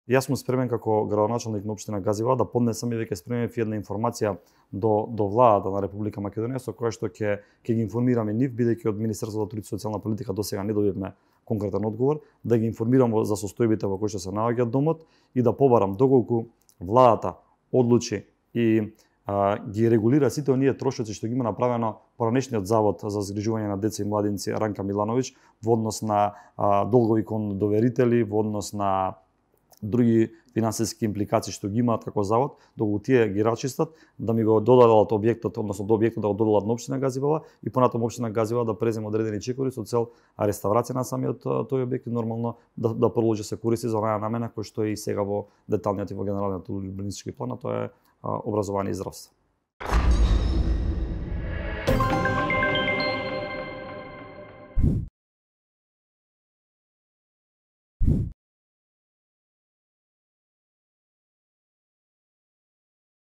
Јас сум спремен како градоначалник на општина Газиваа да поднесам и веќе спремив една информација до владата на Република Македонија со која што ќе ги информираме нив, бидејќи од Министерството за труд и социјална политика досега не добивме конкретен одговор, да ги информирам за состојбите во кои што се наоѓа домот и да побарам доколку владата одлучи и ги регулира сите оние трошоци што ги има направено поранешниот завод за згрижување на деца и младинци Ранка Милановиќ во однос на долгови кон доверители, во однос на други финансиски импликации што ги имаат како завод, доколку тие ги рачистат, да ми го додадат објектот, односно до објектот да го додадат на општина Газиваа и понатаму општина Газиваа да преземе одредени чекори со цел реставрација на самиот тој објект и нормално да продолжи се користи за онаа намена кој што е и сега во деталниот и во генералниот урбанистички план, а тоа е образование и здравство.